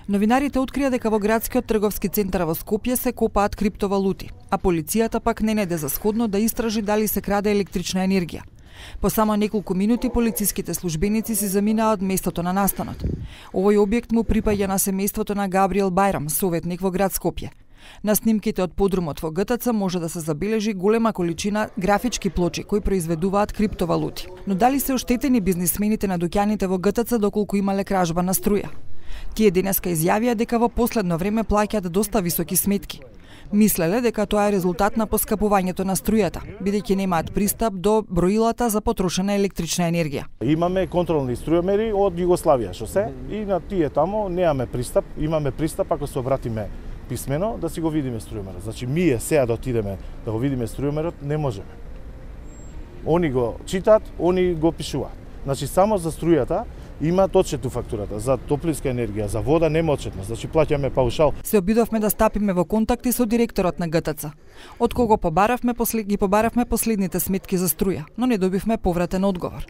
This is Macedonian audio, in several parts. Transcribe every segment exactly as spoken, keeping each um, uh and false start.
Новинарите открија дека во градскиот трговски центар во Скопје се копаат криптовалути, а полицијата пак не најде за сходно да истражи дали се краде електрична енергија. По само неколку минути полициските службеници се заминаа од местото на настанот. Овој објект му припаѓа на семејството на Габриел Бајрам, советник во град Скопје. На снимките од подрумот во ГТЦ може да се забележи голема количина графички плочи кои произведуваат криптовалути. Но дали се оштетени бизнисмените на дуќаните во ГТЦ доколку имале кражба на струја? Тие денеска изјавија дека во последно време плаќаат доста високи сметки. Мислеле дека тоа е резултат на поскапувањето на струјата, бидејќи немаат пристап до броилата за потрошена електрична енергија. Имаме контролни струјомери од Југославија, што се, и на тие тамо немаме пристап, имаме пристап ако се обратиме писмено да си го видиме струјомерот. Значи ние сега да отидеме да го видиме струјомерот не можеме. Они го читаат, они го пишуваат. Значи само за струјата има одчетно фактурата, за топлинска енергија, за вода нема одчетност, значи плаќаме паушал. Се обидовме да стапиме во контакти со директорот на ГТЦ. Од кого побаравме послед... ги побаравме последните сметки за струја, но не добивме повратен одговор.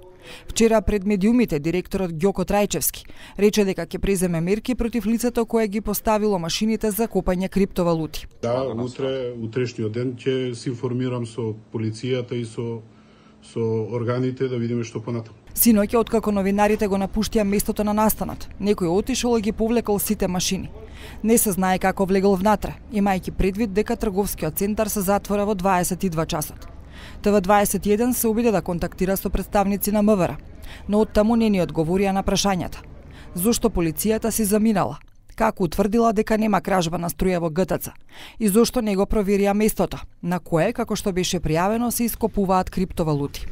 Вчера пред медиумите директорот Ѓоко Трајчевски рече дека ќе преземе мерки против лицето кое ги поставило машините за копање криптовалути. Да, утре, утрешниот ден ќе се информирам со полицијата и со со органите да видиме што понатаму. Синоќа, откако новинарите го напуштија местото на настанот, некој отишол и ги повлекол сите машини. Не се знае како влегол внатре, имајќи предвид дека трговскиот центар се затвора во дваесет и два часот. Т В дваесет и еден се обиде да контактира со представници на МВР, но оттаму не ни одговорија на прашањата. Зошто полицијата си заминала? Како утврдила дека нема кражба на струја во ГТЦ? И зошто не го проверија местото, на кое, како што беше пријавено, се ископуваат криптовалути?